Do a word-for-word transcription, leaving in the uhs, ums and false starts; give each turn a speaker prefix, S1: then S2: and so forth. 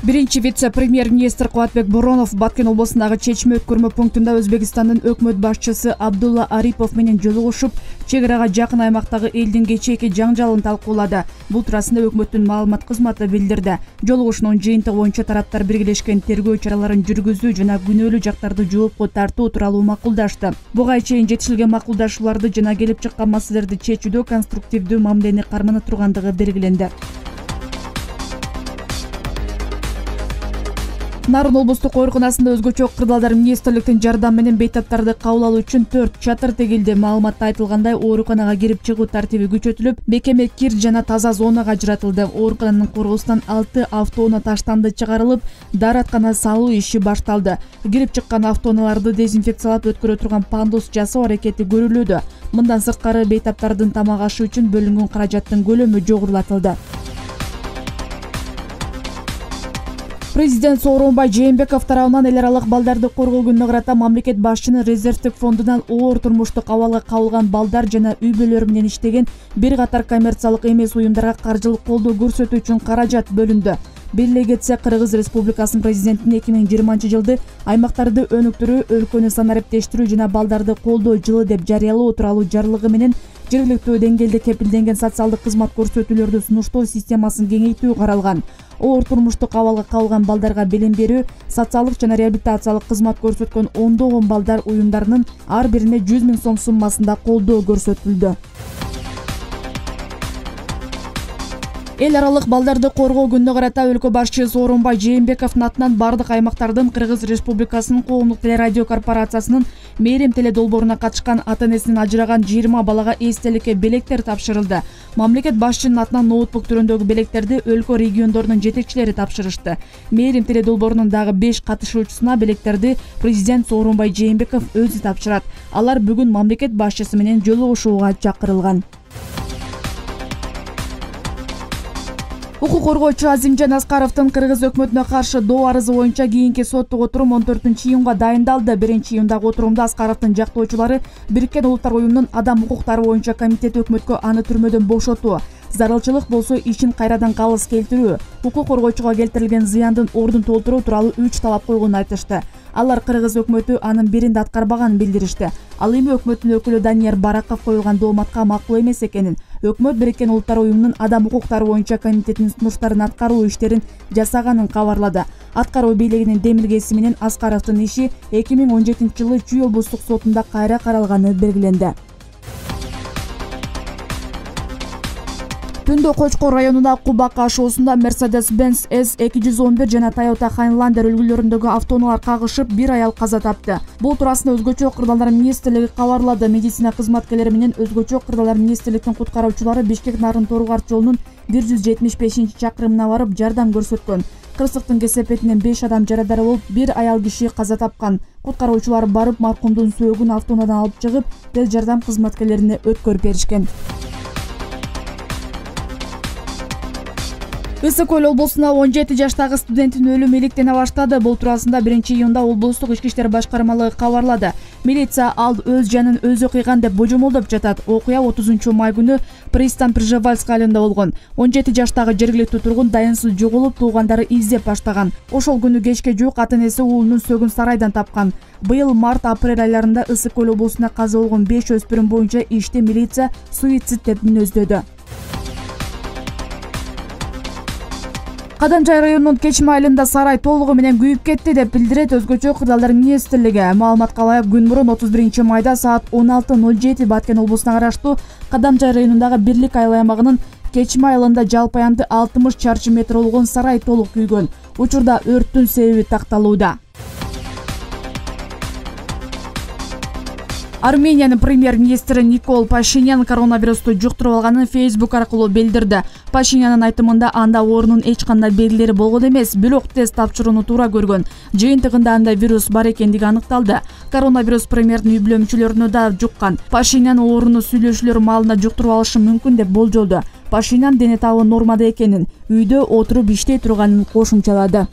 S1: Биринчи вице-премьер-министр Кубатбек Боронов Баткен облусундагы чечме өткөрмө пунктунда Өзбекстандын өкмөт башчысы Абдулла Арипов менен жолугушуп, чек арага жакын аймактагы элдин кечээки жаңжалын талкуулады. Бул туурасында өкмөттүн маалымат кызматы билдирди. Жолугушуунун жыйынтыгы боюнча тараптар биргелешкен тергөө чараларын жүргүзүү жана күнөөлүү жактарды жоопко тартуу тууралуу макулдашты. Буга чейин жетишилген макулдашууларды жана келип чыккан маселелерди чечүүдө конструктивдүү мамилени кармана тургандыгы белгиленди. Нарын облустук ооруканасында өзгөчө кырдаалдар министрликтин жардамы менен бейтаптарды кабыл алуу үчүн төрт чатыр тегилди. Маалыматта айтылгандай, ооруканага кирип чыгуу тартиби күчөтүлүп, бекеме кир жана таза зонага ажыратылды. Оорукананын коргоосунан алты автоунаа таштанды чыгарылып, даараткана салуу иши башталды. Кирип чыккан автоунааларды дезинфекциялап өткөрө турган пандус жасоо аракети көрүлүүдө. Мындан сырткары бейтаптардын тамак ашы үчүн бөлүнгөн каражаттын көлөмү жогорулатылды. Президент Сооронбай Жээнбеков тарабынан эл аралык балдарды коргоо күнүнө карата мамлекет башчынын резервдик фондунан оор турмуштук абалга кабылган балдар жана үй бүлөлөр менен иштеген бир катар коммерциялык эмес уюмдарга каржылык колдоо көрсөтүү үчүн каражат бөлүндү. Бир эле кетсе, Кыргыз Республикасынын президентинин эки миң жыйырманчы жылды аймактарды өнүктүрүү, өлкөнү санариптештирүү жана балдарды колдоо жылы деп жарыялоо тууралуу жарлыгы менен жергиликтүү деңгээлде кепилденген социалдык кызмат көрсөтүүлөрдү сунуштоо системасын кеңейтүү каралган. Оор турмуштук абалга кабылган балдарга билим берүү, социалдык жана реабилитациялык кызмат көрсөткөн ондогон балдар уюмдарынын ар бирине жүз миң сом суммасында колдоо көрсөтүлдү. Эл аралык балдарды коргоо күнүнө карата өлкө башчысы Сооронбай Жээнбековдун атынан бардык аймактардын Кыргыз Республикасынын коомдук телерадио корпорациясынын Мээрим теле долбооруна катышкан ата-энесинен ажыраган жыйырма балага эстеликке белектер тапшырылды. Мамлекет башчынын атынан ноутбук түрүндөгү белектерди өлкө региондорунун жетекчилери тапшырышты. Мээрим теле долбоорунун дагы беш катышуучусуна белектерди президент Сооронбай Жээнбеков өзү тапшырат. Алар бүгүн мамлекет башчысы менен жолугушууга чакырылган. Укук коргоочу Азимжан Аскаровдун Кыргыз өкмөтүнө каршы доо арызы боюнча кийинки соттук отурум он төртүнчү июнга дайындалды. биринчи июндагы отурумда Аскаровдун жактоочулары Бириккен Улуттар уюмунун адам укуктары боюнча комитети өкмөткө аны түрмөдөн бошотуу, зарылчылык болсо ишин кайрадан калыс келтирүү, укук коргоочуга келтирилген зыяндын ордун толтуруу тууралуу үч талап койгонун айтышты. Алар Кыргыз өкмөтү анын бирин да аткарбаганын билдиришти. Ал эми өкмөттүн өкүлү Данияр Бараков коюлган дооматка макул эмес экенин, өкмөт Бириккен Улуттар уюмунун адам укуктары боюнча комитетинин сунуштарын аткаруу иштерин жасаганын кабарлады. Аткаруу бийлигинин демилгеси менен Аскаровдун иши эки миң он жетинчи жылы Чүй облустук сотунда кайра каралганы белгиленди. Түндө Кочкор районуна Кубак ашоосунда Mercedes-Benz эс эки жүз он бир жана Toyota Highlander үлгүлөрүндөгү автоунаалар кагышып, бир аял каза тапты. Бул туурасында өзгөчө кырдаалдар министрлиги кабарлады. Медицина кызматкерлери менен өзгөчө кырдаалдар министрликтин куткаруучулары Бишкек Нарын Тору-Карт жолунун бир жүз жетимиш бешинчи чакырымына барып жардам көрсөткөн. Кырсыктын кесепетинен беш адам жарадар болуп, бир аял киши каза тапкан. Куткаруучулар барып маркумдун сөөгүн автоунаадан алып чыгып, тез жардам кызматкерлерине өткөрүп беришкен. Ысык Көл облусунда он жети жаштагы студенттин өлүмү иликтене баштады. Бул туурасында биринчи июнда облустук ички иштер башкармалыгы кабарлады. Милиция ал өз жанын өзү кыйган деп божомолдоп жатат. Окуя отузунчу май күнү Пристан Пржевальск айылында болгон. он жети жаштагы жергиликтүү тургун дайынсыз жоголуп, туугандары издеп баштаган. Ошол күнү кечке жуук ата-энеси уулунун сөгүн сарайдан тапкан. Быйыл март-апрель айларында Ысык Көл облусунда каза болгон беш өспүрүм боюнча ишти милиция суицид деп мүнөздөдү. Кадамжай районунун Кечме айылында сарай толугу менен күйүп кетти деп билдирет өзгөчө кырдаалдар министрлиги. Маалыматка ылайык, күн мурун отуз биринчи майда саат он алты ноль жети Баткен облусуна караштуу Кадамжай районундагы Бирлик айыл аймагынын Кечме айылында жалпы аянты алтымыш чарчы метр болгон сарай толук күйгөн. Учурда өрттүн себеби такталууда. Армениянын премьер-министри Никол Пашинян коронавирусту жуктуруп алганын Facebook аркылуу билдирди. Пашинянын айтымында анда оорунун эч кандай белгилери болгон эмес, бирок тест тапшырууну туура көргөн. Жыйынтыгында анда вирус бар экендиги аныкталды. Коронавирус премьердин үй бүлө мүчөлөрүнө да жуккан. Пашинян ооруну сүйлөшүүлөр маалында жуктуруп алышы мүмкүн деп болжолду. Пашинян дене табы нормада экенин, үйдө отуруп иштей турганын кошумчалады.